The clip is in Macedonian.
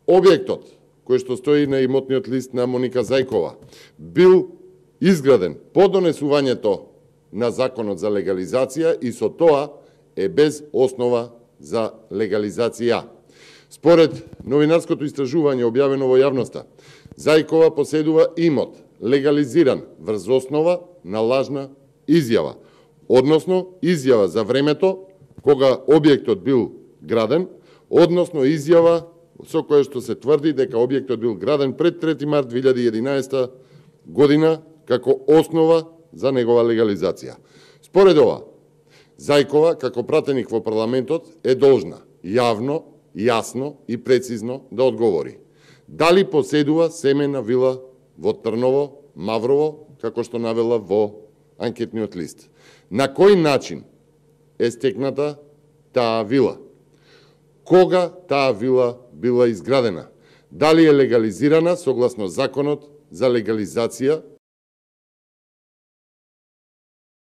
објектот кој што стои на имотниот лист на Моника Зајкова бил изграден по донесувањето на законот за легализација и со тоа е без основа за легализација. Според новинарското истражување објавено во јавноста, Зајкова поседува имот легализиран врз основа на лажна изјава, односно изјава за времето кога објектот бил граден, односно изјава со која што се тврди дека објектот бил граден пред 3 март 2011 година како основа за негова легализација. Според ова, Зајкова, како пратеник во парламентот, е должна јавно, јасно и прецизно да одговори дали поседува семена вила во Трново, Маврово, како што навела во анкетниот лист. На кој начин е стекната таа вила? Кога таа вила била изградена? Дали е легализирана согласно законот за легализација